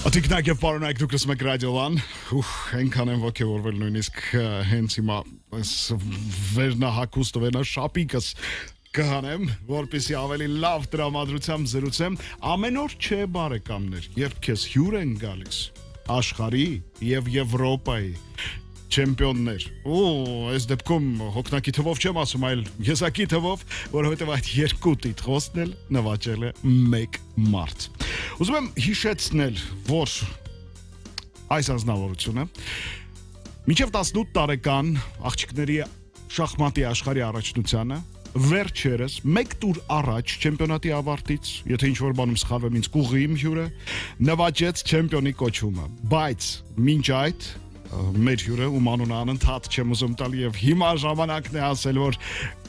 Ատիկնակ եւ պարոնայք դուք լսում եք ռադիոան, այնքան եմ ոգևորվել նույնիսկ հենց հիմա վերնահակուստ վերնաշապիկս կհանեմ, որպեսզի ավելի լավ տրամադրությամբ զրուցեմ, ամեն օր չէ բարեկամներ, երբ քեզ հյուր են գալիս աշխարհի եւ Եվրոպայի չեմպիոններ։ Այս դեպքում հոգնակի թվով չեմ ասում, այլ եսակի թվով, որովհետև այդ երկու տիտղոսն էլ նվաճել է մեկ մարդ։ Ուզում եմ հիշեցնել, որ այս անձնավորությունը մինչև 18 տարեկան աղջիկների շախմատի աշխարհի առաջնությանը վերջերս մեկ տուր առաջ չեմպիոնատի ավարտից, եթե ինչ-որ բանում սխալվեմ, ինձ կուղի իմ հյուրը նվաճեց չեմպիոնի կոչումը, բայց մինչ այդ մեր հյուրը ում անունը անընդհատ չեմ ուզում տալ եւ հիմա ժամանակն է ասել, որ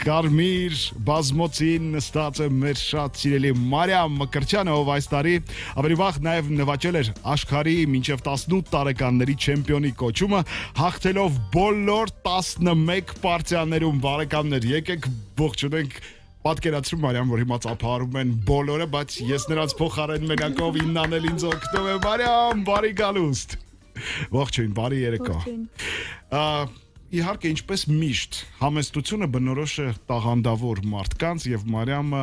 կարմիր բազմոցին նստած է մեր շատ սիրելի Մարիամ Մկրտչյանը, ով այս տարի ավելի վաղ նաեւ նվաճել էր աշխարհի մինչեւ 18 տարեկանների չեմպիոնի կոչումը, հաղթելով բոլոր 11 պարտիաներում։ Բարեկամներ, եկեք ողջունենք պատկերացրու Մարիամ, որ հիմա ծափահարում են բոլորը, բայց ես նրանց փոխարեն մենակով իննանել ինձ օգնում եմ։ Մարիամ, բարի գալուստ։ Ողջույն, բարի երեկո։ Իհարկե, ինչպես միշտ, համեստությունը բնորոշ է տաղանդավոր մարդկանց եւ Մարիամը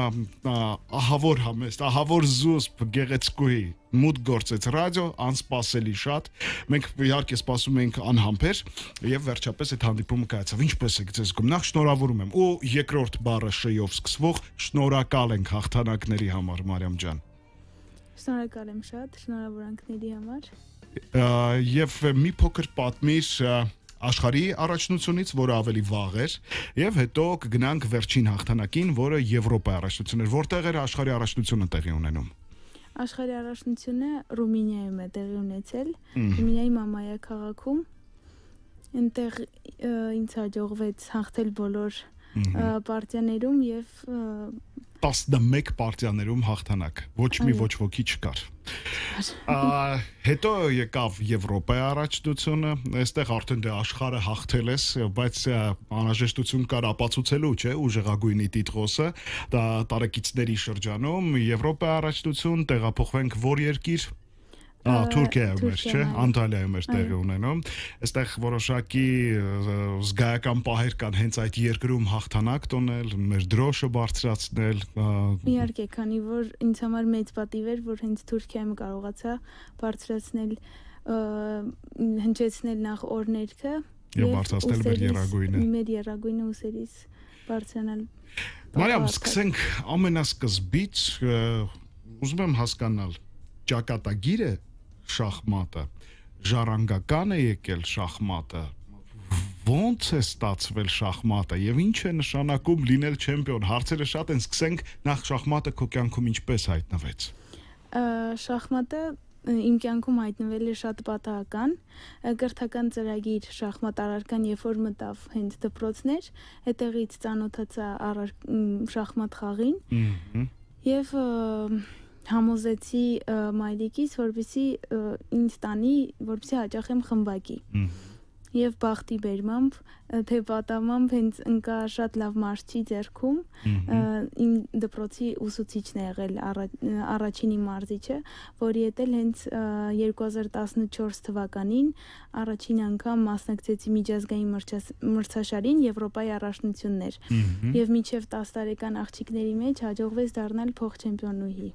ահավոր համեստ, ահավոր զուսպ գեղեցկուհի մուտք գործեց ռադիո, անսպասելի շատ։ Մենք իհարկե սպասում էինք անհամբեր եւ վերջապես այդ հանդիպումը կայացավ։ Ինչպես եք ձեզ զգում։ Նախ շնորհավորում եմ։ Ու երկրորդ բառը շ-ով սկսվող շնորհակալ ենք հաղթանակների համար, Մարիամ ջան։ Շնորհակալ եմ շատ, շնորհավորանքների համար։ Եվ մի փոքր պատմիր աշխարհի առաջնությունից, որը ավելի վաղ էր, եւ հետո կգնանք վերջին հաղթանակին, որը Եվրոպայի առաջնությունն էր, որտեղ էր աշխարհի առաջնությունը տեղի ունենում։ Աշխարհի առաջնությունը Ռումինիայում է տեղի ունեցել, Ռումինիայի Մամայա քաղաքում։ Այնտեղ ինձ հաջողվեց հաղթել բոլոր պարտիաներում եւ 11 պարտիաներում հաղթանակ, ոչ մի ոչ ոքի չկար։ Հետո եկավ Եվրոպայի առաջնությունը, այստեղ արդեն դե աշխարհը հաղթել ես, բայց անհրաժեշտություն կար ապացուցելու, չէ, ուժեղագույնի տիտղոսը, դա տարեկիցների շրջանում Եվրոպայի առաջնություն, տեղափոխվենք որ երկիր։ Թուրքիայում էր, չէ, Անտալիայում էր տեղի ունենում։ Այստեղ որոշակի զգայական պահեր կան հենց այդ երկրում հաղթանակ տոնել, մեր դրոշը բարձրացնել։ Իհարկե, քանի որ ինձ համար մեծ պատիվ էր, որ հենց Թուրքիայում կարողացա բարձրացնել, հնչեցնել նախ օրներքը եւ բարձրացնել մեր երագույնը ուսերից բարձրանալ։ Մարիամ, սկսենք ամենասկզբից, ուզում եմ հասկանալ, ճակատագիր է շախմատը, ժառանգական է եկել շախմատը, ոնց է ստացվել շախմատը եւ ինչ է նշանակում լինել չեմպիոն։ Հարցերը շատ են, սկսենք նախ շախմատը քո կյանքում ինչպես հայտնվեց։ Շախմատը իմ կյանքում հայտնվել է շատ պատահական, կրթական ծրագիր շախմատ առարկան, երբ որ մտավ հենց դպրոցներ, հետեղից ծանոթացա շախմատ խաղին եւ համոզեցի մայրիկիս, որպեսզի ինձ տանի, որպեսզի հաճախեմ խմբակի։ Եվ բախտի բերմամբ, թե պատամամբ հենց ընկա շատ լավ մարզչի ձեռքում, իմ դպրոցի ուսուցիչն է եղել առաջին իմ մարզիչը, որի հետ էլ հենց 2014 թվականին առաջին անգամ մասնակցեցի միջազգային մրցաշարին Եվրոպայի առաջնություններ։ Եվ մինչև 10 տարեկան աղջիկների մեջ հաջողվեց դառնալ փոխչեմպիոնուհի։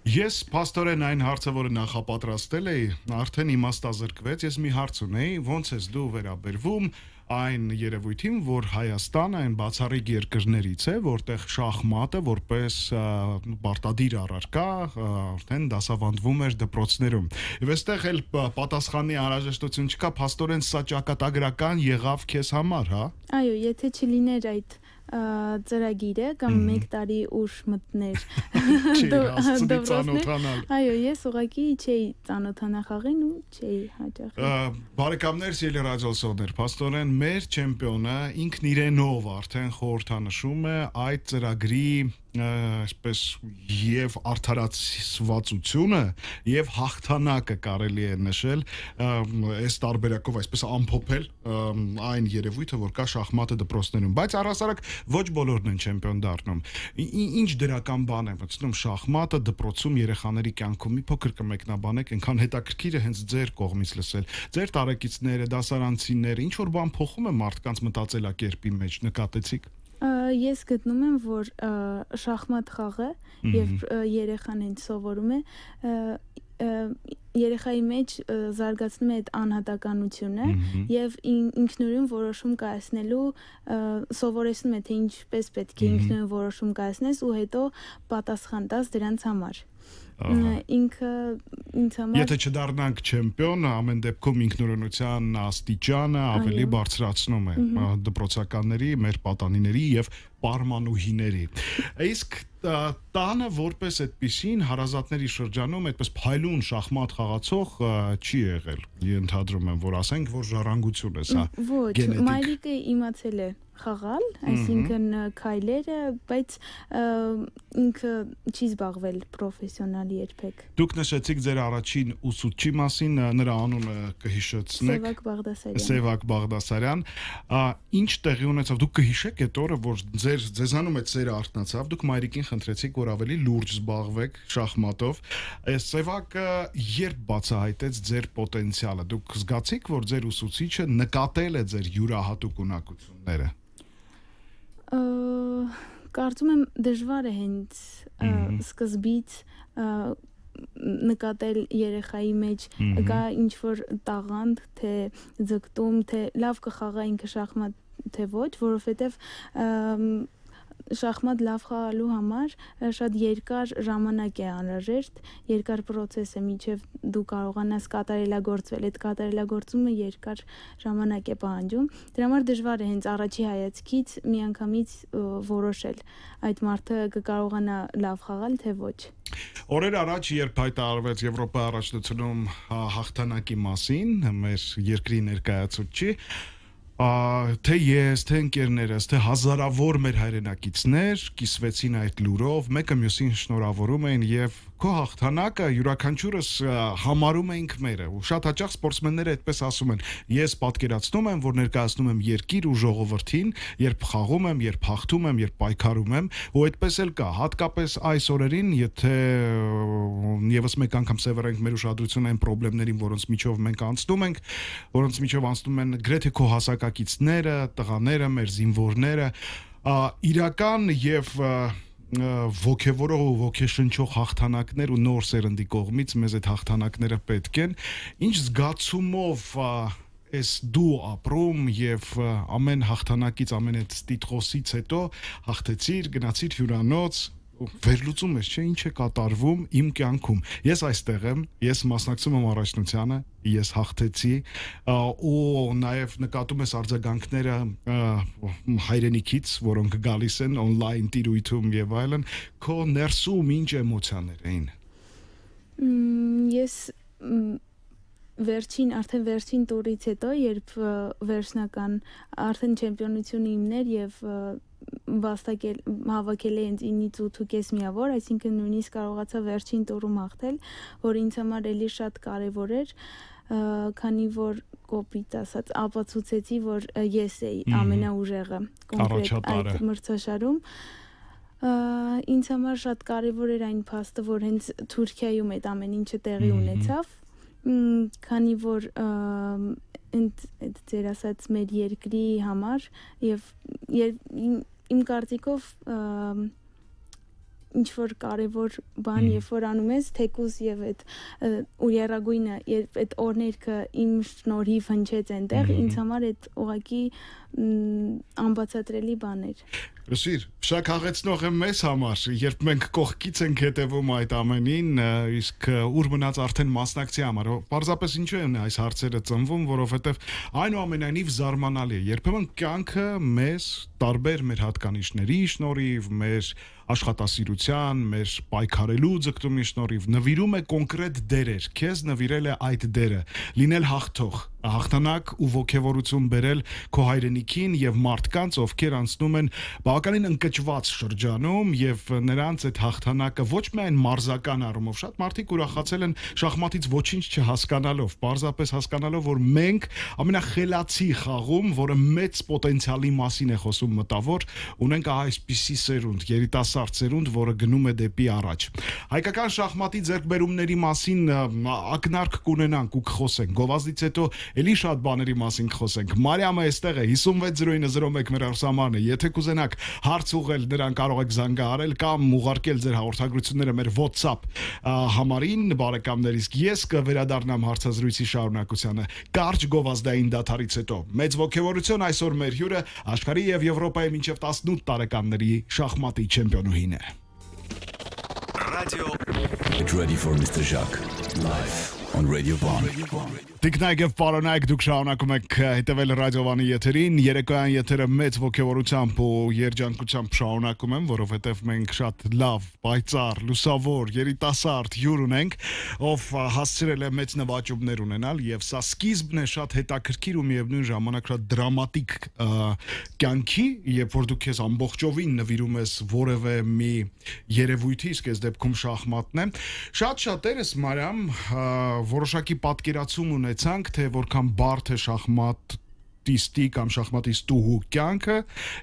Ես փաստորեն այն հարցը, որը նախապատրաստել էի, արդեն իմաստազրկվեց, ես մի հարց ունեի, ոնց ես դու վերաբերվում այն երևույթին, որ Հայաստանը այն բացառիկ երկրներից է, որտեղ շախմատը որպես պարտադիր առարկա արդեն դասավանդվում էր դպրոցներում։ Եվ այստեղ էլ պատասխանի անհրաժեշտություն չկա, փաստորեն սա ճակատագրական եղավ քեզ համար, հա։ Այո, եթե չլիներ այդ ծրագիրը կամ մեկ տարի ուշ մտներ ծանոթանալ։ Այո, ես ուղղակի չէի ծանոթանա խաղին ու չէի հաճախի։ Բարեկամներ, սիրելի ռադիոլսողներ, փաստորեն մեր չեմպիոնը ինքն իրենով արդեն խորհրդանշում է այդ ծրագրի այսպես եւ արդարացվածությունը եւ հաղթանակը կարելի է նշել այս տարբերակով այսպես ամփոփել այն երևույթը, որ կա շախմատը դպրոցներում, բայց առհասարակ ոչ բոլորն են չեմպիոն դառնում։ Ինչ դրական բան է մտցնում շախմատը դպրոցում երեխաների կյանքում, մի փոքր կմեկնաբանեք, այնքան հետաքրքիր է հենց ձեր կողմից լսել։ Ձեր տարեկիցները, դասարանցիները, ինչ որ բան փոխում է մարդկանց մտածելակերպի մեջ, նկատեցիք։ Ես գտնում եմ, որ շախմատ խաղը եւ երեխան հենց սովորում է երեխայի մեջ զարգացնում է այդ անհատականությունը եւ ինքնուրույն որոշում կայացնելու սովորեցնում է թե ինչպես պետք է ինքնուրույն որոշում կայացնես ու հետո պատասխան տաս դրանց համար։ Ինքը ինձ համար Եթե չդառնանք չեմպիոն, ամեն դեպքում ինքնուրույնության աստիճանը ավելի բարձրացնում է դպրոցականների, մեր պատանիների եւ պարմանուհիների։ Իսկ տանը որպես այդպիսին հարազատների շրջանում այդպես փայլուն շախմատ խաղացող չի եղել։ Ենթադրում եմ, որ ասենք, որ ժառանգություն է սա գենետիկ։ Ոչ, մայրիկը իմացել է խաղալ, այսինքն քայլերը, բայց ինքը չի զբաղվել պրոֆեսիոնալ երբեք։ Դուք նշեցիք ձեր առաջին ուսուցչի մասին, նրա անունը կհիշեցնեք։ Սևակ Բաղդասարյան։ Սևակ Բաղդասարյան։ Ինչ տեղի ունեցավ, դուք կհիշեք այդ օրը, որ ձեզանում այդ սերը արթնացավ, դուք մայրիկին խնդրեցիք, որ ավելի լուրջ զբաղվեք շախմատով։ Սևակը երբ բացահայտեց ձեր պոտենցիալը, դուք զգացիք, որ ձեր ուսուցիչը նկատել է ձեր յուրահատուկ ունակությունները։ Կարծում եմ դժվար է հենց սկզբից նկատել երեխայի մեջ կա ինչ որ տաղանդ, թե ձգտում, թե լավ կխաղա ինքը շախմատ, թե ոչ, որովհետև շախմատ լավ խաղալու համար շատ երկար ժամանակ է անհրաժեշտ, երկար process է մինչև դու կարողանաս կատարելագործվել, այդ կատարելագործումը երկար ժամանակ է պահանջում, դրա համար դժվար է հենց առաջի հայացքից միանգամից որոշել այդ մարդը կկարողանա լավ խաղալ, թե ոչ։ Օրեր առաջ, երբ հայտարարվեց Եվրոպայի առաջնությունում հաղթանակի մասին, մեր երկրի ներկայացուցիչ թե ես, թե ընկերներս, թե հազարավոր մեր հայրենակիցներ կիսվեցին այդ լուրով, մեկը մյուսին շնորհավորում էին եւ քո հաղթանակը յուրաքանչյուրս համարում էինք մերը ու շատ հաճախ սպորտսմենները այդպես ասում են ես պատկերացնում եմ որ ներկայացնում եմ երկիր ու ժողովրդին երբ խաղում եմ երբ հաղթում եմ երբ պայքարում եմ ու այդպես էլ կա հատկապես այս օրերին եթե եւս մեկ անգամ սևեռենք մեր ուշադրությունը այն խնդիրներին որոնց միջով մենք անցնում ենք որոնց միջով անցնում են գրեթե քո հասակակիցները տղաները մեր զինվորները իրական եւ ոգևորող ու ոգեշնչող հաղթանակներ ու նոր սերնդի կողմից մեզ այդ հաղթանակները պետք են ինչ զգացումով ես դու ապրում եւ ամեն հաղթանակից ամեն այդ տիտղոսից հետո հաղթեցիր գնացիր հյուրանոց վերլուծում ես չէ ինչ է կատարվում իմ կյանքում ես այստեղ եմ ես մասնակցում եմ առաջնությանը ես հաղթեցի ու նաև նկատում ես արձագանքները հայրենիքից որոնք գալիս են on-line տիրույթում եւ այլն քո ներսում ինչ էմոցիաներ էին ես արդեն վերջին տուրից հետո երբ վերջնական արդեն չեմպիոնությունը իմներ եւ հավաքել է ինձ 9-ից 8.5 միավոր, այսինքն նույնիսկ կարողացա վերջին տուրում հաղթել, որ ինձ համար էլի շատ կարևոր էր, քանի որ կոպիտ ասած ապացուցեցի, որ ես էի ամենաուժեղը կոնկրետ այդ մրցաշարում ինձ համար շատ կարևոր էր այն փաստը, որ հենց Թուրքիայում այդ ամեն ինչը տեղի ունեցավ, քանի որ այդ ձեր ասած մեր երկրի համար եւ իմ կարծիքով ինչ որ կարևոր բան երբ որ անում ես թեկուզ եւ այդ ու երագույնը երբ այդ օրներքը իմ շնորհիվ հնչեց այնտեղ ինձ համար այդ ուղակի անբացատրելի բան էր Լսիր, շաքաղեցնող եմ մեզ համար, երբ մենք կողքից ենք հետևում այդ ամենին, իսկ ուր մնաց արդեն մասնակցի համար, պարզապես ինչու են այս հարցերը ծնվում, որովհետև այնուամենայնիվ զարմանալի է, երբեմն կյանքը մեզ տարբեր մեր հատկանիշների շնորհիվ, մեր աշխատասիրության, մեր պայքարելու ձգտումի շնորհիվ նվիրում է կոնկրետ դերեր, քեզ նվիրել է այդ դերը, լինել հաղթող, հաղթանակ ու ոգևորություն բերել քո հայրենիքին եւ մարդկանց, ովքեր անցնում են բավականին ընկճված շրջանում եւ նրանց այդ հաղթանակը ոչ միայն մարզական առումով, շատ մարդիկ ուրախացել են շախմատից ոչինչ չհասկանալով, պարզապես հասկանալով, որ մենք ամենախելացի խաղում, որը մեծ պոտենցիալի մասին է խոսում մտավոր, ունենք այսպիսի սերունդ, երիտասարդ սերունդ, որը գնում է դեպի առաջ։ Հայկական շախմատի ձեռքբերումների մասին ակնարկ կունենանք ու կխոսենք։ Գովազդից հետո էլի շատ բաների մասին կխոսենք։ Մարիամը այստեղ է 560901 մեր արսամարն է։ Եթե կուզենաք հարց ուղղել, նրան կարող եք զանգահարել կամ ուղարկել ձեր հաղորդագրությունները մեր WhatsApp համարին, բարեկամներ, իսկ ես կվերադառնամ հարցազրույցի շարունակությանը կարճ գովազդային դադարից հետո։ Մեծ ողջավորություն, այսօր մեր հյուրը աշխարհի եւ Եվրոպայի մինչեւ 18 տարեկանների շախմատի չեմպիոնուհին է։ Radio. Get ready for Mr. Jacques live on Radio 1. Տիկնայք եւ պարոնայք, դուք շարունակում եք հետևել ռադիովանի եթերին, երեկոյան եթերը մեծ ողջավորությամբ ու երջանկությամբ շարունակում եմ, որովհետեւ մենք շատ լավ, պայծառ, լուսավոր, երիտասարդ հյուր ունենք, ով հասցրել է մեծ նվաճումներ ունենալ եւ սա սկիզբն է շատ հետաքրքիր ու միևնույն ժամանակ շատ դրամատիկ կյանքի, երբ որ դու քեզ ամբողջովին նվիրում ես որևէ մի երևույթի, իսկ այս դեպքում շախմատն է։ Շատ շատերս Մարիամ որոշակի պատկերացում ունեցանք, թե որքան բարդ է շախմատիստի կամ շախմատիստուհու կյանքը,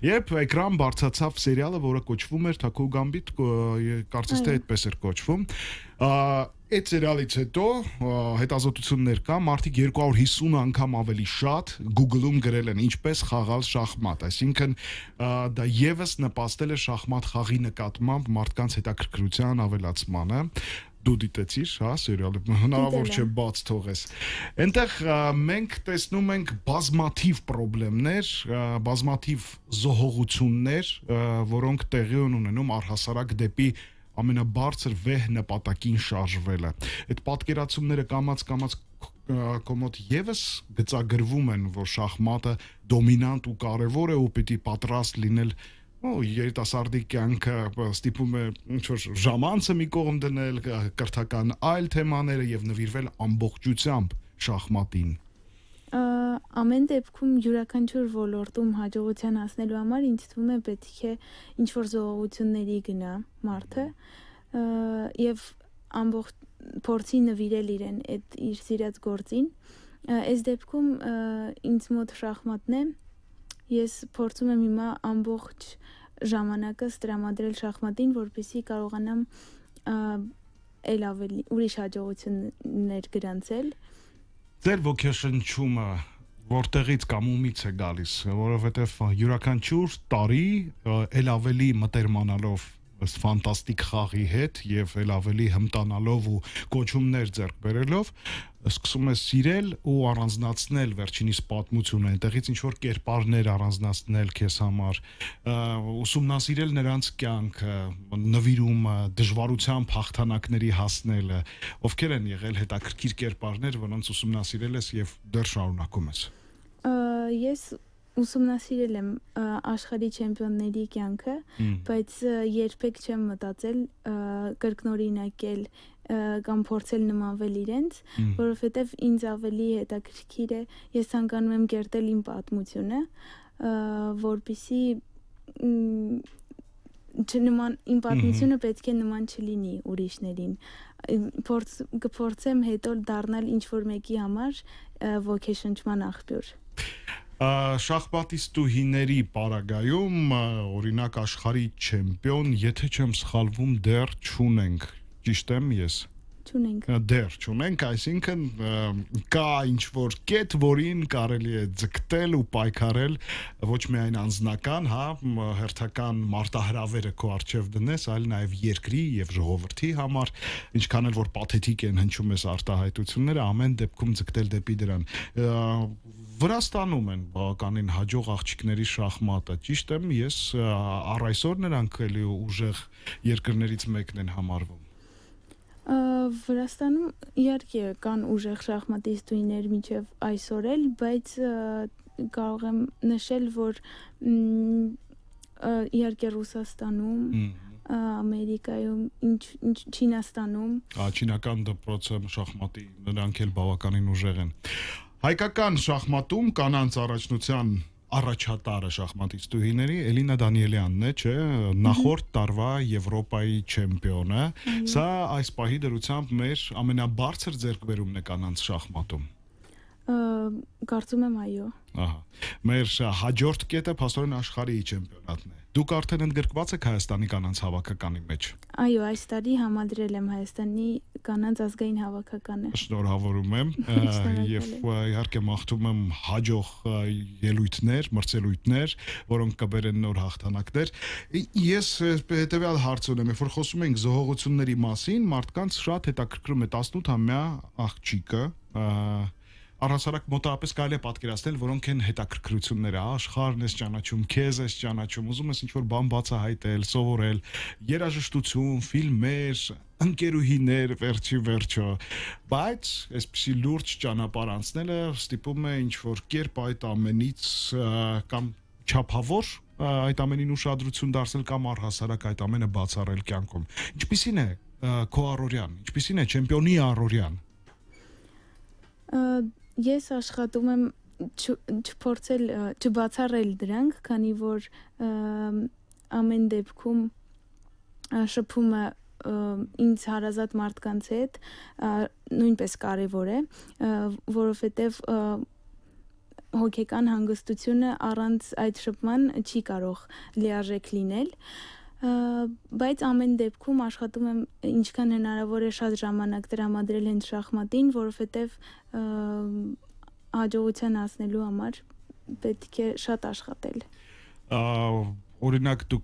երբ էկրան բարձրացավ սերիալը, որը կոչվում էր Թաքո Գամբիթ, կարծես թե այդպես էր կոչվում։ Այդ սերիալից հետո հետազոտություններ կա, մարդիկ 250 անգամ ավելի շատ Google-ում գրել են ինչպես խաղալ շախմատ, այսինքն դա եւս նպաստել է շախմատ խաղի նկատմամբ մարդկանց հետաքրքրության ավելացմանը։ Դու դիտեցիր, հա, սերիալը, հնարավոր չէ բաց թողես։ Այնտեղ մենք տեսնում ենք բազմաթիվ խնդիրներ, բազմաթիվ զոհողություններ, որոնք տեղի են ունենում առհասարակ դեպի ամենաբարձր վեհ նպատակին շարժվելը։ Այդ պատկերացումները կամաց կոմոդ եւս գծագրվում են, որ շախմատը դոմինանտ ու կարեւոր է ու պիտի պատրաստ լինել երիտասարդի կյանքը ստիպում է ինչ-որ ժամանցը մի կողմ դնել, կրթական այլ թեմաները եւ նվիրվել ամբողջությամբ շախմատին։ Ամեն դեպքում յուրաքանչյուր ոլորտում հաջողության հասնելու համար ինձ թվում է պետք է ինչ-որ զողողությունների գնա մարդը եւ ամբողջ փորձի նվիրել իրեն այդ իր սիրած գործին։ Այս դեպքում ինձ մոտ շախմատն է։ Ես փորձում եմ հիմա ամբողջ ժամանակս տրամադրել շախմատին, որպեսզի կարողանամ ել ավելի ուրիշ հաջողություններ գրանցել։ Ձեր ոգեշնչումը որտեղից կամ ումից է գալիս, որովհետև յուրաքանչյուր տարի ել ավելի մտերմանալով ըստ ֆանտաստիկ խաղի հետ եւ ել ավելի հմտանալով ու կոչումներ ձեռք բերելով սկսում ես սիրել ու առանձնացնել վերջինիս պատմությունը, այնտեղից ինչ որ կերպարներ առանձնացնել քեզ համար, ուսումնասիրել նրանց կյանքը, նվիրումը, դժվարությամբ հաղթանակների հասնելը, ովքեր են եղել հետաքրքիր կերպարներ, որոնց ուսումնասիրել ես եւ դեռ շարունակում ես։ Ես ուսումնասիրել եմ աշխարհի չեմպիոնների կյանքը, բայց երբեք չեմ մտածել կրկնօրինակել կամ փորձել նմանվել իրենց, որովհետև ինձ ավելի հետաքրքիր է, ես ցանկանում եմ կերտել իմ պատմությունը, որպեսզի իմ պատմությունը պետք է նման չլինի ուրիշներին։ Կփորձեմ հետո դառնալ ինչ-որ մեկի համար ոգեշնչման աղբյուր։ Շախմատիստուհիների պարագայում օրինակ աշխարհի չեմպիոն, եթե չեմ սխալվում, դեռ չունենք, ճիշտ եմ ես։ Չունենք։ Դեռ չունենք, այսինքն կա ինչ-որ կետ, որին կարելի է ձգտել ու պայքարել ոչ միայն անձնական, հա, հերթական մարտահրավերը քո առջև դնես, այլ նաև երկրի եւ ժողովրդի համար, ինչքան էլ որ պաթետիկ են հնչում ես արտահայտությունները, ամեն դեպքում ձգտել դեպի դրան։ Վրաստանում են բավականին հաջող աղջիկների շախմատը, ճիշտ եմ ես, առ այսօր նրանք էլի ուժեղ երկրներից մեկն են համարվում։ Վրաստանում իհարկե կան ուժեղ շախմատիստուհիներ մինչև այսօր էլ, բայց կարող եմ նշել, որ իհարկե Ռուսաստանում, Ամերիկայում, Չինաստանում։ Չինական դպրոցը շախմատի նրանք էլ բավականին ուժեղ են։ Հայկական շախմատում կանանց առաջնության առաջատարը շախմատիստուհիների Էլինա Դանիելյանն է, չէ, նախորդ տարվա Եվրոպայի չեմպիոնը։ Սա այս պահի դրությամբ մեր ամենաբարձր ձեռքբերումն է կանանց շախմատում։ Կարծում եմ այո։ Ահա։ Մեր հաջորդ կետը փաստորեն աշխարհի չեմպիոնատն է։ Դուք արդեն ընդգրկված եք Հայաստանի կանանց հավաքականի մեջ։ Այո, այս տարի համադրել եմ Հայաստանի կանանց ազգային հավաքականը։ Շնորհավորում եմ եւ իհարկե մաղթում եմ հաջող ելույթներ, մրցելույթներ, որոնք կբերեն նոր հաղթանակներ։ Ես հետեւյալ հարց ունեմ, երբ որ խոսում ենք զոհողությունների մասին, մարդկանց շատ հետաքրքրում է 18-ամյա աղջիկը, առհասարակ մոտավորապես կարելի է պատկերացնել, որոնք են հետաքրքրությունները, աշխարհն ես ճանաչում, քեզ ես ճանաչում, ուզում ես ինչ-որ բան բացահայտել, սովորել, երաժշտություն, ֆիլմեր, ընկերուհիներ, վերջը, բայց այսպիսի լուրջ ճանապարհ անցնելը ստիպում է ինչ-որ կերպ այդ ամենից կամ չափավոր այդ ամենին ուշադրություն դարձնել կամ առհասարակ այդ ամենը բացառել կյանքում։ Ինչպիսին է քո առօրյան, ինչպիսին է չեմպիոնի առօրյան։ Ես աշխատում եմ չփորձել չբացառել դրանք, քանի որ ամեն դեպքում շփումը ինձ հարազատ մարդկանց հետ նույնպես կարևոր է, որովհետև հոգեկան հանգստությունը առանց այդ շփման չի կարող լիարժեք լինել, բայց ամեն դեպքում աշխատում եմ ինչքան հնարավոր է շատ ժամանակ տրամադրել հենց շախմատին, որովհետև հաջողության հասնելու համար պետք է շատ աշխատել։ Օրինակ դու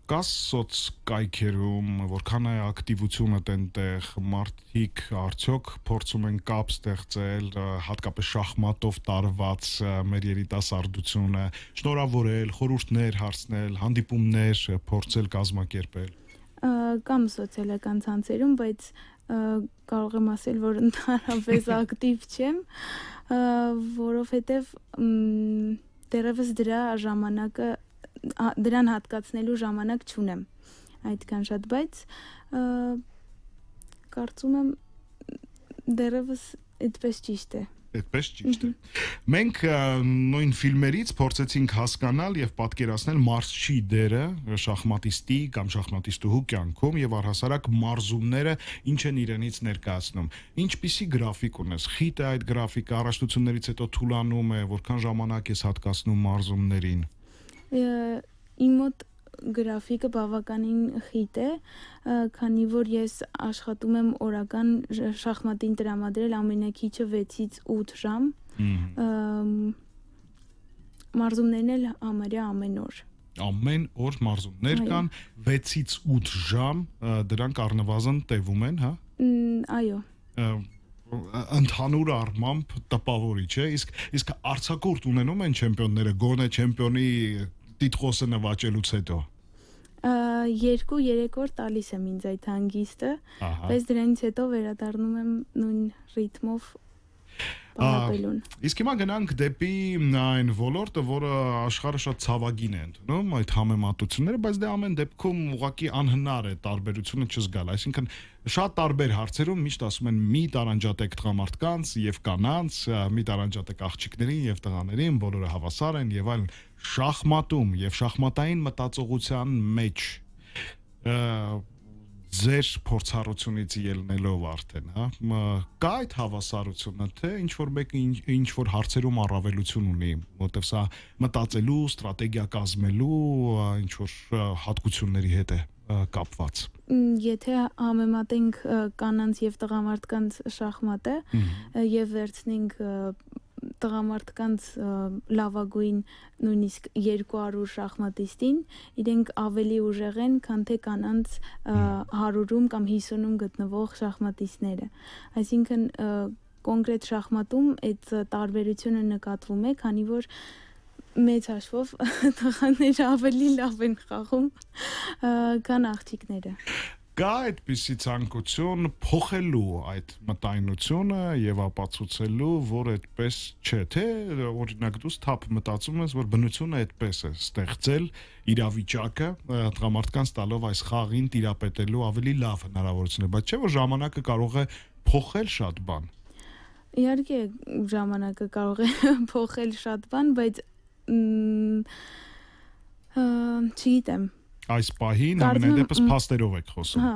կաս սոցկայքերում, որքան է ակտիվությունը տենտեղ, մարդիկ արդյոք փորձում են կապ ստեղծել, հատկապես շախմատով տարված մեր երիտասարդությունը, շնորհավորել, խորհուրդներ հարցնել, հանդիպումներ փորձել կազմակերպել։ Կամ սոցիալական ցանցերում, բայց կարող եմ ասել, որ ընդհանրապես ակտիվ չեմ, որովհետև դեռևս դրան հատկացնելու ժամանակ չունեմ այդքան շատ, բայց կարծում եմ դեռևս այդպես ճիշտ է։ Այդպես ճիշտ է։ Մենք նույն ֆիլմերից փորձեցինք հասկանալ եւ պատկերացնել մարզչի դերը շախմատիստի կամ շախմատիստուհու կյանքում եւ առհասարակ մարզումները ինչ են իրենից ներկայացնում։ Ինչպիսի գրաֆիկ ունես։ Խիտ է այդ գրաֆիկը, առաջնություններից հետո թուլանում է, որքան ժամանակ ես հատկացնում մարզումներին։ Իմ մոտ գրաֆիկը բավականին խիտ է, քանի որ ես աշխատում եմ օրական շախմատին տրամադրել ամենակիչը 6-ից 8 ժամ, մարզումներն էլ համարյա ամեն օր։ Ամեն օր մարզումներ կան, 6-ից 8 ժամ, դրանք առնվազն տևում են, հա։ Այո։ Ընդհանուր առմամբ տպավորիչ է, իսկ արձակուրդ ունենում են չեմպիոնները, գոնե չեմպիոնի տիտղոսը նվաճելուց հետո։ 2-3 օր տալիս եմ ինձ այդ հանգիստը, բայց դրանից հետո վերադառնում եմ նույն ռիթմով պարապելուն։ Իսկ հիմա գնանք դեպի այն ոլորտը, որը աշխարհը շատ ցավագին է ընդունում, այդ համեմատությունները, բայց դե ամեն դեպքում ուղղակի անհնար է տարբերությունը չզգալ, այսինքն շատ տարբեր հարցերում միշտ ասում են մի տարանջատեք տղամարդկանց եւ կանանց, մի տարանջատեք աղջիկներին եւ տղաներին, բոլորը հավասար են եւ այլն։ Շախմատում եւ շախմատային մտածողության մեջ ձեր փորձառությունից ելնելով արդեն, հա, կա այդ հավասարությունը, թե ինչ որ մեկը ինչ որ հարցերում առավելություն ունի, որտեղ սա մտածելու, ստրատեգիա կազմելու ինչ որ հատկությունների հետ է կապված։ Եթե համեմատենք կանանց եւ տղամարդկանց շախմատը եւ վերցնենք տղամարդկանց լավագույն նույնիսկ 200 շախմատիստին, իրենք ավելի ուժեղ են, քան թե կանանց 100-ում կամ 50-ում գտնվող շախմատիստները։ Այսինքն կոնկրետ շախմատում այդ տարբերությունը նկատվում է, քանի որ մեծ հաշվով տղաները ավելի լավ են խաղում, քան աղջիկները։ Կա այդպիսի ցանկություն փոխելու այդ մտայնությունը եւ ապացուցելու, որ այդպես չէ, թե օրինակ դու սթափ մտածում ես, որ բնությունը այդպես է ստեղծել իրավիճակը տղամարդկանց տալով այս խաղին տիրապետելու ավելի լավ հնարավորություն է, բայց չէ որ ժամանակը կարող է փոխել շատ բան։ Իհարկե ժամանակը կարող է փոխել շատ բան, բայց չգիտեմ։ Այս պահին ամենայն դեպս փաստերով եք խոսում։ Հա։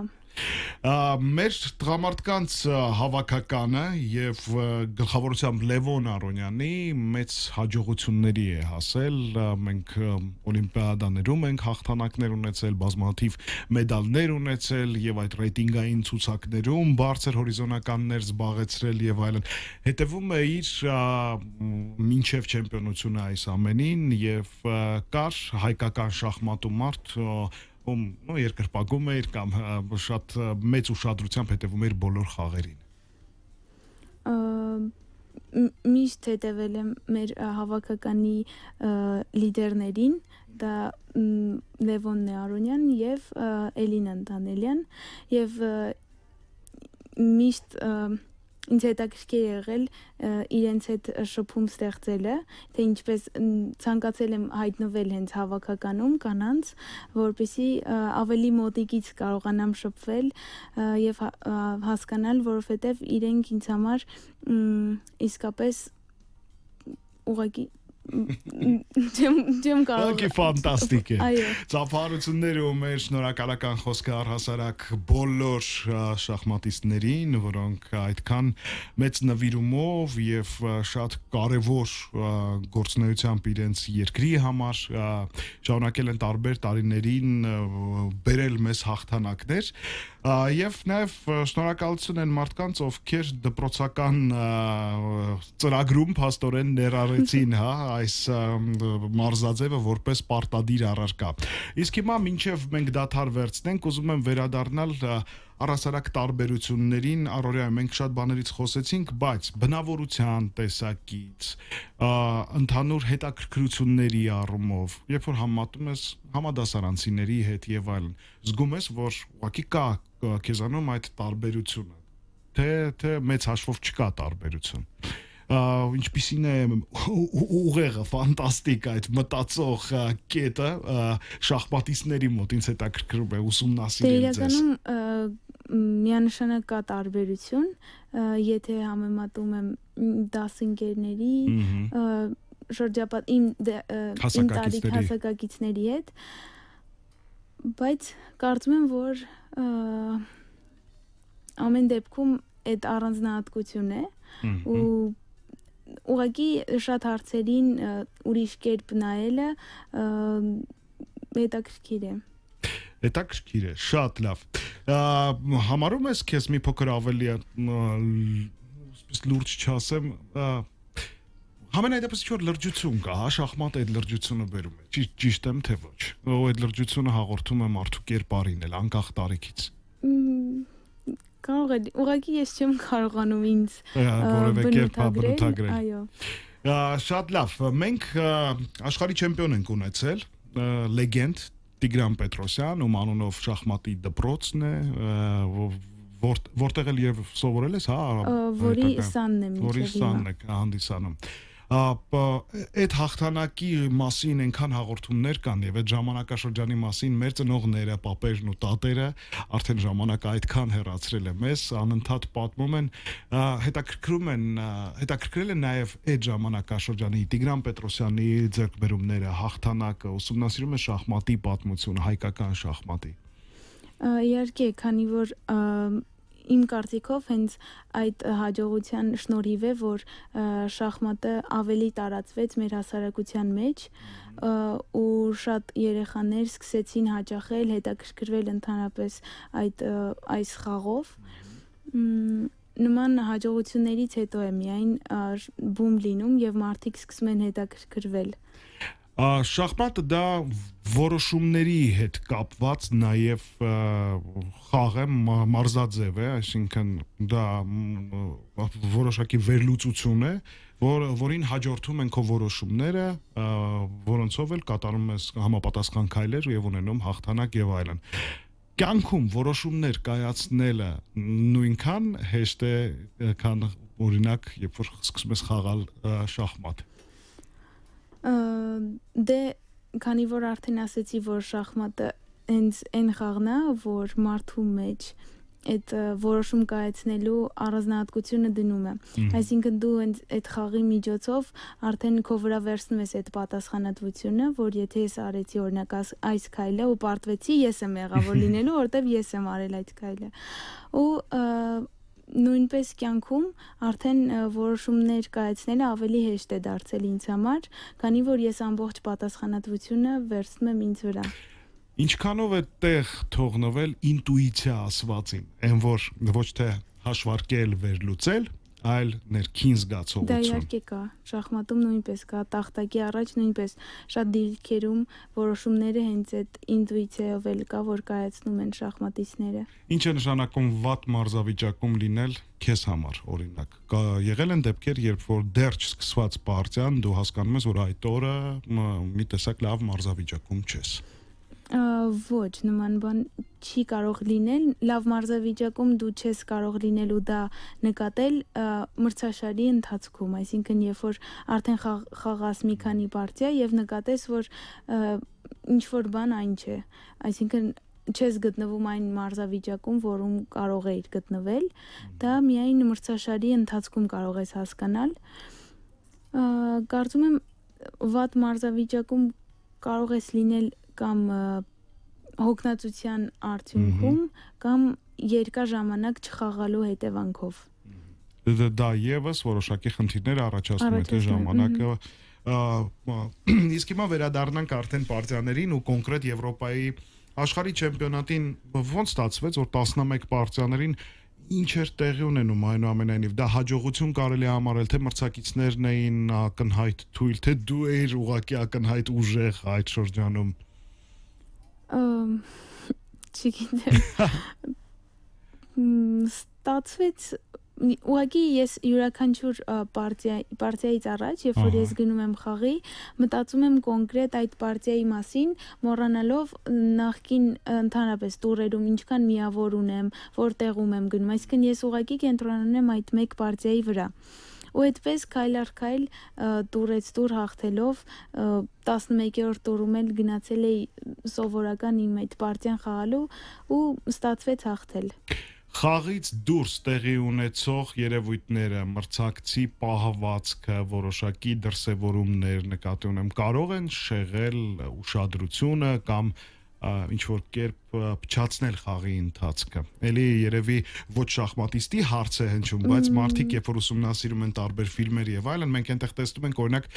Մեր տղամարդկանց հավաքականը եւ գլխավորությամբ Լևոն Արոնյանի մեծ հաջողությունների է հասել, մենք օլիմպիադաներում ենք հաղթանակներ ունեցել, բազմաթիվ մեդալներ ունեցել եւ այդ ռեյտինգային ցուցակներում բարձր հորիզոնականներ զբաղեցրել եւ այլն, հետեւում է իր մինչեւ չեմպիոնությունը այս ամենին եւ կար հայկական շախմատու մարդ երկրպագում էր կամ շատ մեծ ուշադրությամբ հետևում էր բոլոր խաղերին։ Միշտ հետևել եմ մեր հավաքականի լիդերներին, դա Լևոնն Արոնյան եւ Էլինա Դանելյան եւ միշտ ինձ հետաքրքիր եղել իրենց հետ շփում ստեղծելը, թե ինչպես ցանկացել եմ հայտնվել հենց հավաքականում կանանց, որպեսզի ավելի մոտիկից կարողանամ շփվել եւ հասկանալ, որովհետեւ իրենք ինձ համար իսկապես ուղղակի Ջեմ կարող է ֆանտաստիկ է։ Այո։ Ծափարությունները ու մեր շնորհակալական խոսքը առհասարակ բոլոր շախմատիստներին, որոնք այդքան մեծ նվիրումով եւ շատ կարեւոր գործունեությամբ իրենց երկրի համար շարունակել են տարբեր տարիներին բերել մեզ հաղթանակներ եւ նաեւ շնորհակալություն են մարդկանց, ովքեր դպրոցական ծրագրում փաստորեն ներառեցին, հա, այս մարզաձևը որպես պարտադիր առարկա։ Իսկ հիմա մինչև մենք դադար վերցնենք, ուզում եմ վերադառնալ առհասարակ տարբերություններին, առօրյա մենք շատ բաներից խոսեցինք, բայց բնավորության տեսակից, ընդհանուր հետաքրքրությունների առումով, երբ որ համատում ես համադասարանցիների հետ եւ այլն, զգում ես, որ ուղղակի կա քեզանում այդ տարբերությունը, թե մեծ հաշվով չկա տարբերություն։ Ինչպիսին է ուղեղը ֆանտաստիկ այդ մտածող կետը շախմատիստների մոտ ինձ հետաքրքրում է ուսումնասիրել ձեզ։ Իրականում միանշանակ կա տարբերություն, եթե համեմատում եմ դասընկերների շրջապատ իմ տարիք հասակակիցների հետ, բայց կարծում եմ, որ ամեն դեպքում այդ առանձնահատկություն է ու ուղղակի շատ հարցերին ուրիշ կերպ նայելը հետաքրքիր է։ Հետաքրքիր է, շատ լավ։ Համարում ես քեզ մի փոքր ավելի լուրջ չասեմ, համենայն դեպս ինչ-որ լրջություն կա, հա, շախմատը այդ լրջությունը բերում է, ճիշտ եմ թե ոչ, այդ լրջությունը հաղորդում է մարդու կերպարին էլ, անկախ տարիքից։ Կարող է, ուղղակի ես չեմ կարողանում ինձ որևէ կերպ բնութագրել։ Այո։ Շատ լավ, մենք աշխարհի չեմպիոն ենք ունեցել, լեգենդ Տիգրան Պետրոսյան, ում անունով շախմատի դպրոցն է, որտեղ էլ եւ սովորել ես, հա, որի սանն եմ որի սանն է հանդիսանում։ Այդ հաղթանակի մասին այնքան հաղորդումներ կան եւ այդ ժամանակաշրջանի մասին մեր ծնողները, պապերն ու տատերը արդեն ժամանակը այդքան հեռացրել է մեզ, անընդհատ պատմում են, հետաքրքրել են նաեւ այդ ժամանակաշրջանի Տիգրան Պետրոսյանի ձեռքբերումները, հաղթանակը, ուսումնասիրում է շախմատի պատմությունը, հայկական շախմատի։ Իհարկե, քանի որ իմ կարծիքով հենց այդ հաջողության շնորհիվ է, որ շախմատը ավելի տարածվեց մեր հասարակության մեջ ու շատ երեխաներ սկսեցին հաճախել, հետաքրքրվել ընդհանրապես այս խաղով։ Նման հաջողություններից հետո է միայն բում լինում եւ մարդիկ սկսում են հետաքրքրվել։ Շախմատը դա որոշումների հետ կապված նաև խաղ է, մարզաձև է, այսինքն դա որոշակի վերլուծություն է, որին հաջորդում են քո որոշումները, որոնցով էլ կատարում ես համապատասխան քայլեր եւ ունենում հաղթանակ եւ այլն։ Կյանքում որոշումներ կայացնելը նույնքան հեշտ է, քան օրինակ, երբ որ սկսում ես խաղալ շախմատ։ Դե քանի որ արդեն ասեցի, որ շախմատը հենց այն խաղն է, որ մարդու մեջ այդ որոշում կայացնելու առանձնահատկությունը դնում է։ Այսինքն դու այդ խաղի միջոցով արդեն քո վրա վերցնում ես այդ պատասխանատվությունը, որ եթե ես արեցի օրինակ այս քայլը ու պարտվեցի, ես եմ եղավոր լինելու, որտեվ ես եմ արել այդ քայլը։ Ու նույնպես կյանքում արդեն որոշումներ կայացնելը ավելի հեշտ է դարձել ինձ համար, քանի որ ես ամբողջ պատասխանատվությունը վերցնում եմ ինձ վրա։ Ինչքանով է տեղ թողնվել ինտուիցիա ասվածին, այն որ ոչ թե հաշվարկել, վերլուծել, այլ ներքին զգացողություն։ Դա իհարկե կա, շախմատում նույնպես կա, տախտակի առաջ նույնպես շատ դիրքերում որոշումները հենց այդ ինտուիցիայով էլ կա, որ կայացնում են շախմատիստները։ Ինչ է նշանակում վատ մարզավիճակում լինել քեզ համար, օրինակ։ Եղել են դեպքեր, երբ որ դեռ չսկսված պարտիան, դու հասկանում ես, որ այդ օրը մի տեսակ լավ մարզավիճակում չես։ Ոչ, նման բան չի կարող լինել, լավ մարզավիճակում դու չես կարող լինել ու դա նկատել մրցաշարի ընթացքում, այսինքն երբ որ արդեն խաղաս մի քանի պարտիա եւ նկատես, որ ինչ որ բան այն չէ, այսինքն չես գտնվում այն մարզավիճակում, որում կարող էիր գտնվել, դա միայն մրցաշարի ընթացքում կարող ես հասկանալ։ Կարծում եմ վատ մարզավիճակում կարող ես լինել կամ հոգնածության արդյունքում կամ երկար ժամանակ չխաղալու հետևանքով։ Դա եւս որոշակի խնդիրներ առաջացնում է թե ժամանակը։ Իսկ հիմա վերադառնանք արդեն պարտիաներին ու կոնկրետ Եվրոպայի աշխարհի չեմպիոնատին ոնց ստացվեց, որ 11 պարտիաներին ինչ էր տեղի ունենում, այնուամենայնիվ դա հաջողություն կարելի է համարել, թե մրցակիցներն էին ակնհայտ թույլ, թե դու էիր ուղղակի ակնհայտ ուժեղ այդ շրջանում։ Չգիտեմ։ Ստացվեց ուղղակի ես յուրաքանչյուր պարտիայից առաջ, երբ որ ես գնում եմ խաղի, մտածում եմ կոնկրետ այդ պարտիայի մասին, մոռանալով նախկին ընդհանրապես տուրերում ինչքան միավոր ունեմ, որտեղում եմ գնում, այսինքն ես ուղղակի կենտրոնանում եմ այդ մեկ պարտիայի վրա։ Ու այդպես քայլ առ քայլ տուրից տուր հաղթելով 11-րդ տուրում էլ գնացել էի սովորական իմ այդ պարտիան խաղալու ու ստացվեց հաղթել։ Խաղից դուրս տեղի ունեցող երևույթները, մրցակցի պահվածքը, որոշակի դրսևորումներ նկատի ունեմ, կարող են շեղել ուշադրությունը կամ ինչ որ կերպ փչացնել խաղի ընթացքը։ Էլի երևի ոչ շախմատիստի հարց է հնչում, բայց մարդիկ երբ որ ուսումնասիրում են տարբեր ֆիլմեր եւ այլն, մենք այնտեղ տեսնում ենք օրինակ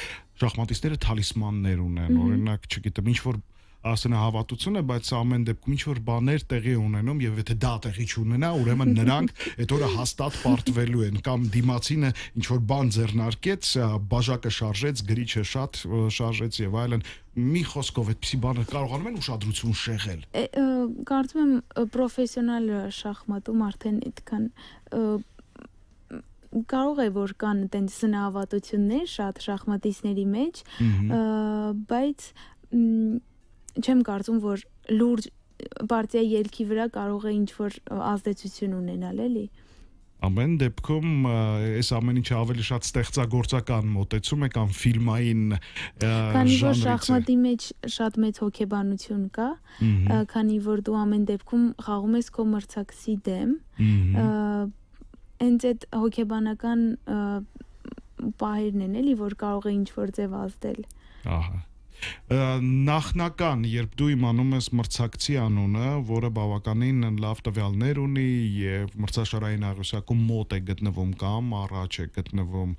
շախմատիստները թալիսմաններ ունեն, օրինակ, չգիտեմ, ինչ որ ասենահավատություն է, բայց ամեն դեպքում ինչ որ բաներ տեղի ունենում եւ եթե դա տեղի չունենա, ուրեմն նրանք այդ օրը հաստատ պարտվելու են կամ դիմացինը ինչ որ բան ձեռնարկեց, բաժակը շարժեց, գրիչը շատ շարժեց եւ այլն։ Մի խոսքով այդպիսի բաներ կարողանում են ուշադրություն շեղել։ Կարծում եմ պրոֆեսիոնալ շախմատում արդեն այդքան կարող է որ կան այդպես սնահավատություններ շատ շախմատիստների մեջ, բայց չեմ կարծում, որ լուրջ պարտիայի ելքի վրա կարող է ինչ-որ ազդեցություն ունենալ, էլի։ Ամեն դեպքում այս ամեն ինչը ավելի շատ ստեղծագործական մոտեցում է կամ ֆիլմային քանի որ շախմատի մեջ շատ մեծ հոգեբանություն կա, քանի որ դու ամեն դեպքում խաղում ես քո մրցակցի դեմ, հենց այդ հոգեբանական պահերն են, էլի, որ կարող է ինչ-որ ձև ազդել։ Ահա։ Նախնական, երբ դու իմանում ես մրցակցի անունը, որը բավականին լավ տվյալներ ունի եւ մրցաշարային աղյուսակում մոտ է գտնվում կամ առաջ է գտնվում,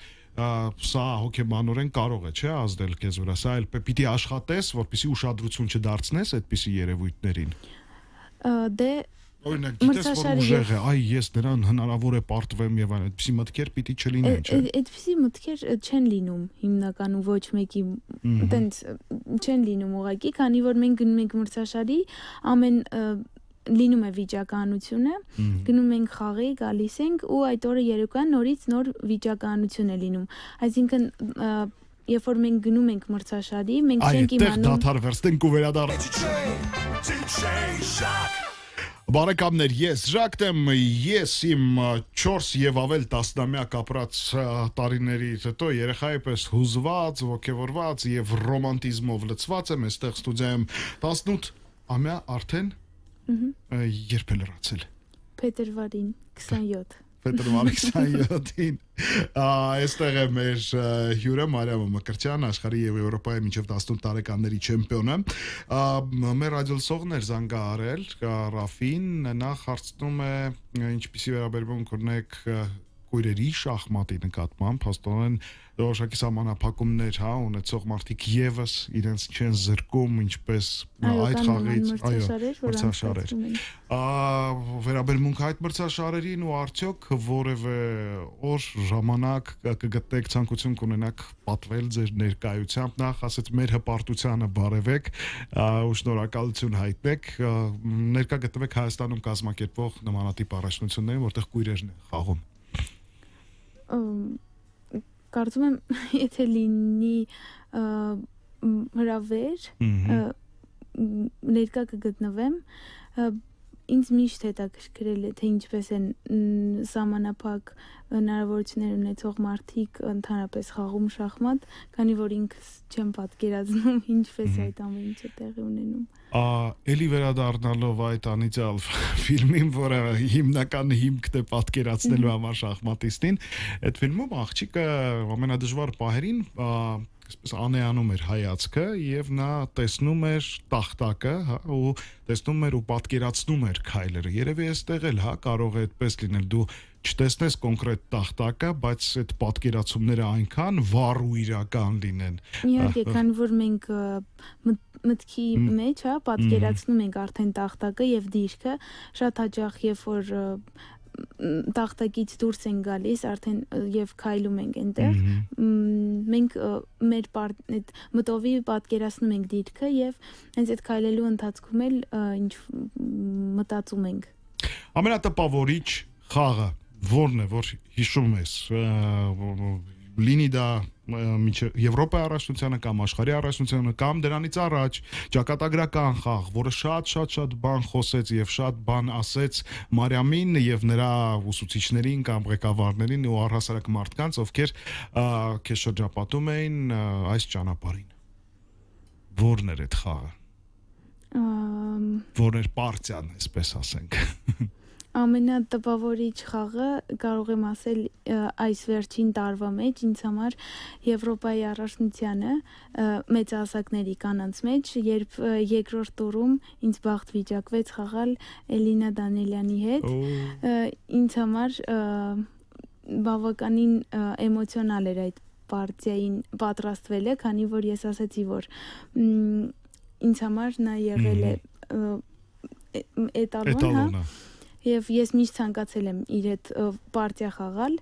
սա հոգեբանորեն կարող է, չէ՞, ազդել քեզ վրա, սա էլ պիտի աշխատես, որպեսզի ուշադրություն չդարձնես այդպիսի երևույթներին։ Դե Օրինակ, գիտես, որ ուժեղ է, այ ես նրան հնարավոր է պարտվեմ եւ այլն, այդպիսի մտքեր պիտի չլինեն, չէ՞։ Այդպիսի մտքեր չեն լինում հիմնականում ոչ մեկի, այտենց չեն լինում ուղղակի, քանի որ մենք գնում ենք մրցաշարի, ամեն լինում է վիճակահանությունը, գնում ենք խաղի, գալիս ենք ու այդ օրը երեկոյան նորից նոր վիճակահանություն է լինում։ Այսինքն երբ որ մենք գնում ենք մրցաշարի, մենք չենք իմանում։ Այդտեղ դադար վերցնենք ու վերադառնանք։ Բարեկամներ, ես Ժակ եմ, ես իմ 4 եւ ավել տասնամյակ ապրած տարիներից հետո երեխայի պես հուզված, ոգևորված եւ ռոմանտիզմով լցված եմ, այստեղ ստուդիայում 18 ամյա արդեն երբ է լրացել։ Փետրվարին 27 Փետրվարի 27-ին այստեղ է մեր հյուրը Մարիամ Մկրտչյան, աշխարհի եւ Եվրոպայի մինչեւ 18 տարեկանների չեմպիոնը։ Մեր ռադիոլսողներ զանգա արել Ռաֆին, նախ հարցնում է ինչպիսի վերաբերմունք ունեք քույրերի շախմատի նկատմամբ, հաստատորեն որոշակի սահմանափակումներ, ունեցող մարդիկ եւս իրենց չեն զրկում, ինչպես այդ խաղից, մրցաշարեր։ Վերաբերմունք այդ մրցաշարերին ու արդյոք որևէ օր ժամանակ կգտնեք ցանկություն կունենաք պատվել ձեր ներկայությամբ, նախ ասած մեր հպարտությանը բարևեք ու շնորհակալություն հայտնեք, ներկա գտնվեք Հայաստանում կազմակերպվող նմանատիպ առաջնություններին, որտեղ քույրերն են խաղում։ Կարծում եմ, եթե լինի հրավեր, ներկա կգտնվեմ, ինձ միշտ հետաքրքրել է, թե ինչպես են սահմանափակ հնարավորություններ ունեցող մարդիկ ընդհանրապես խաղում շախմատ, քանի որ ինքս չեմ պատկերացնում ինչպես այդ ամեն ինչը տեղի ունենում։ Էլի վերադառնալով այդ անիծյալ ֆիլմին, որը հիմնական հիմքն է պատկերացնելու համար շախմատիստին, այդ ֆիլմում աղջիկը ամենադժվար պահերին այսպես անեանում էր հայացքը եւ նա տեսնում էր տախտակը, ու տեսնում էր ու պատկերացնում էր քայլերը։ Երևի այստեղ էլ կարող է այդպես լինել, դու չտեսնես կոնկրետ տախտակը, բայց այդ պատկերացումները այնքան վառ ու իրական լինեն։ Իհարկե, քանի որ մենք մտքի մեջ, պատկերացնում ենք արդեն տախտակը եւ դիրքը, շատ հաճախ երբ որ տախտակից դուրս են գալիս արդեն եւ քայլում ենք այնտեղ, մենք մեր այդ մտովի պատկերացնում ենք դիրքը եւ հենց այդ քայլելու ընթացքում էլ ինչ մտածում ենք։ Ամենատպավորիչ խաղը որն է, որ հիշում ես, լինի դա Եվրոպայի առաջնությանը կամ աշխարհի առաջնությանը կամ դրանից առաջ ճակատագրական խաղ, որը շատ բան խոսեց եւ շատ բան ասեց Մարիամին եւ նրա ուսուցիչներին կամ ղեկավարներին ու առհասարակ մարդկանց, ովքեր քեզ շրջապատում էին այս ճանապարհին։ Որն էր այդ խաղը։ Որն էր պարտիան, այսպես ասենք։ Ամենատպավորիչ խաղը կարող եմ ասել այս վերջին տարվա մեջ ինձ համար Եվրոպայի առաջնությանը մեծահասակների կանանց մեջ, երբ երկրորդ տուրում ինձ բախտ վիճակվեց խաղալ Էլինա Դանիելյանի հետ, ինձ համար բավականին էմոցիոնալ էր այդ պարտիային պատրաստվելը, քանի որ ես ասացի, որ ինձ համար նա եղել է էտալոնը, եւ ես միշտ ցանկացել եմ իր հետ պարտիա խաղալ։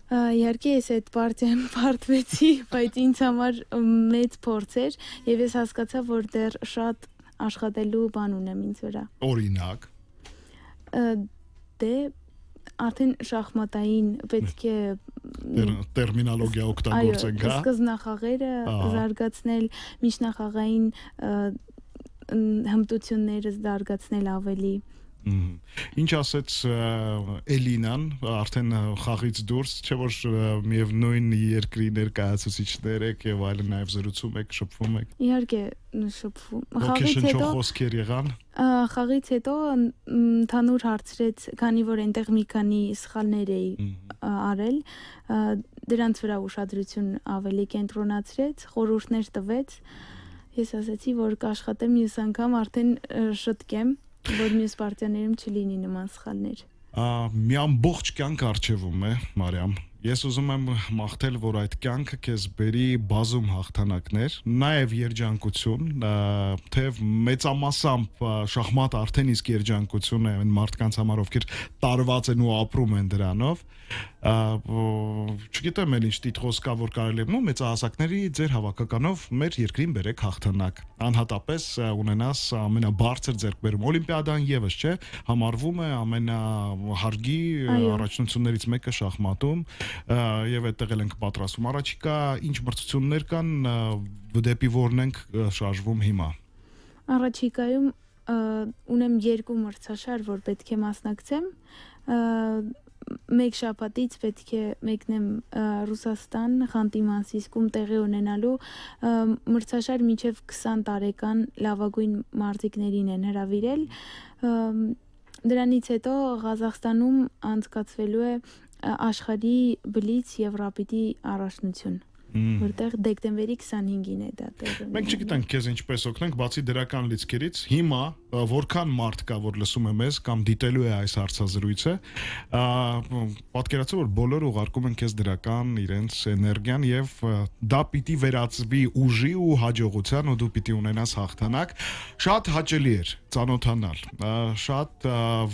Իհարկե ես այդ պարտիայում պարտվեցի, բայց ինձ համար մեծ փորձ էր եւ ես հասկացա, որ դեռ շատ աշխատելու բան ունեմ ինձ վրա։ Օրինակ դե արդեն շախմատային պետք է տերմինոլոգիա օգտագործենք, հա։ Սկզբնախաղերը զարգացնել, միջնախաղային հմտությունները զարգացնել ավելի։ Ինչ ասեց Էլինան, արդեն խաղից դուրս, չէ՞ որ միևնույն երկրի ներկայացուցիչներ եք եւ այլն նաեւ զրուցում եք, շփվում եք։ Իհարկե շփվում։ Խաղից հետո խոսքեր եղան։ Խաղից հետո ընդհանուր հարցրեց, քանի որ այնտեղ մի քանի սխալներ էի արել, դրանց վրա ուշադրություն ավելի կենտրոնացրեց, խորհուրդներ տվեց։ Ես ասացի, որ կաշխատեմ մյուս անգամ արդեն շտկեմ, որ մյուս պարտիաներում չլինի նման սխալներ։ Մի ամբողջ կյանք առջևում է, Մարիամ։ Ես ուզում եմ մաղթել, որ այդ կյանքը քեզ բերի բազում հաղթանակներ, նաև երջանկություն, թեև մեծամասամբ շախմատը արդեն իսկ երջանկություն է այն մարդկանց համար, ովքեր տարված են ու ապրում են դրանով։ Չգիտեմ էլ ինչ տիտղոս կա, որ կարելի է մեծահասակների ձեր հավաքականով մեր երկրին բերեք հաղթանակ։ Անհատապես ունենաս ամենաբարձր ձեռքբերում։ Օլիմպիադան եւս չէ, համարվում է ամենահարգի առաջնություններից մեկը շախմատում, եւ այդտեղ էլ ենք պատրաստվում։ Առաջիկա ինչ մրցություններ կան, դեպի որն ենք շարժվում հիմա։ Առաջիկայում ունեմ 2 մրցաշար, որ պետք է մասնակցեմ։ Մեկ շաբաթից պետք է մեկնեմ Ռուսաստան, Խանտի-Մանսիսկում տեղի ունենալու մրցաշար մինչև 20 տարեկան լավագույն մարզիկներին են հրավիրել։ Դրանից հետո Ղազախստանում անցկացվելու է աշխարհի բլից եւ ռապիդի առաջնություն, որտեղ դեկտեմբերի 25-ին է դա տեղի ունենում։ Մենք չգիտենք քեզ ինչպես օգնենք, բացի դրական լիցքերից, հիմա որքան մարդ կա, որ լսում է մեզ կամ դիտելու է այս հարցազրույցը, պատկերացրու, որ բոլորը ուղարկում են քեզ դրական իրենց էներգիան եւ դա պիտի վերածվի ուժի ու հաջողության ու դու պիտի ունենաս հաղթանակ։ Շատ հաճելի էր ծանոթանալ, շատ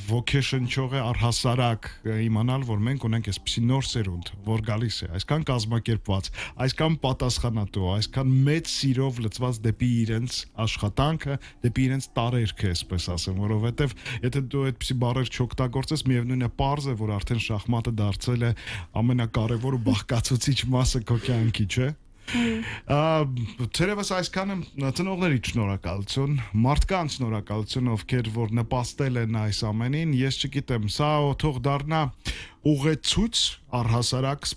ոգեշնչող է առհասարակ իմանալ, որ մենք ունենք այսպիսի նոր սերունդ, որ գալիս է, այսքան կազմակերպված, այսքան պատասխանատու, այսքան մեծ սիրով լծված դեպի իրենց աշխատանքը, դեպի իրենց տարերքը, այսպես ասեմ, որովհետև եթե դու այդպիսի բառեր չօգտագործես, միևնույն է պարզ է, որ արդեն շախմատը դարձել է ամենակարևոր ու բաղկացուցիչ մասը քո կյանքի, չէ՞։ Թերևս այսքանը ծնողների շնորհակալություն, մարդկանց շնորհակալություն, ովքեր որ նպաստել են այս ամենին, ես չգիտեմ, սա թող դառնա ուղեցույց առհասարակ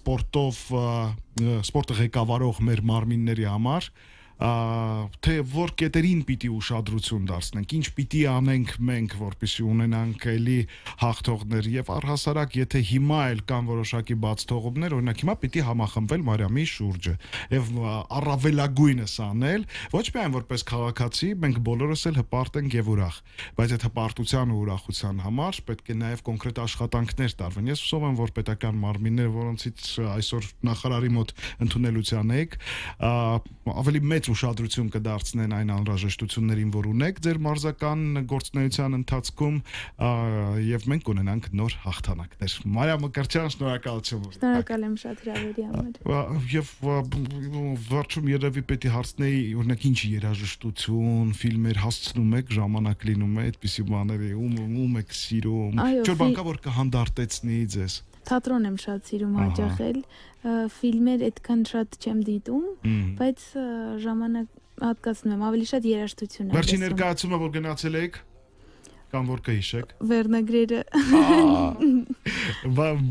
սպորտը ղեկավարող մեր մարմինների համար, թե որ կետերին պիտի ուշադրություն դարձնենք, ինչ պիտի անենք մենք, որպեսզի ունենանք էլի հաղթողներ եւ առհասարակ եթե հիմա էլ կան որոշակի բաց թողումներ, օրինակ հիմա պիտի համախմբվել Մարիամի շուրջը եւ առավելագույնս անել, ոչ միայն որպես քաղաքացի, մենք բոլորս էլ հպարտ ենք եւ ուրախ, բայց այդ հպարտության ու ուրախության համար պետք է նաեւ կոնկրետ աշխատանքներ տարվեն։ Ես հուսով եմ, որ պետական մարմինները, որոնցից այսօր նախարարի մոտ ընդունելության եք, ավելի մեծ ուշադրություն կդարձնեն այն անհրաժեշտություններին, որ ունեք ձեր մարզական գործունեության ընթացքում եւ մենք ունենանք նոր հաղթանակներ։ Մարիամ Մկրտչյան, շնորհակալություն։ Շնորհակալ եմ շատ հրավերի համար։ Եվ վերջում երևի պետք է հարցնեի, օրինակ ինչ երաժշտություն, ֆիլմեր հասցնում եք, ժամանակ լինում է այդպիսի բաների, ում եք սիրում, ինչ բան կա որ կհանդարտեցնի ձեզ։ Թատրոն եմ շատ սիրում հաճախել, ֆիլմեր այդքան շատ չեմ դիտում, բայց ժամանակ հատկացնում եմ, ավելի շատ երաժշտություն եմ։ Վերջին ներկայացումը որ գնացել եք, կամ որ կհիշեք։ Վերնագրերը։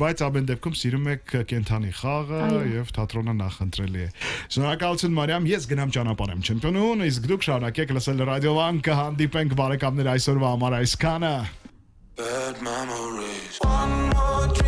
Բայց ամեն դեպքում սիրում եք կենթանի խաղը եւ թատրոնը նախընտրելի է։ Շնորհակալություն Մարիամ, ես գնամ ճանապարհ եմ չեմպիոնուն, իսկ դուք շարունակեք լսել Ռադիո Վան, կհանդիպենք բարեկամներ այսօրվա համար այսքանը։ Bad memories. One more drink,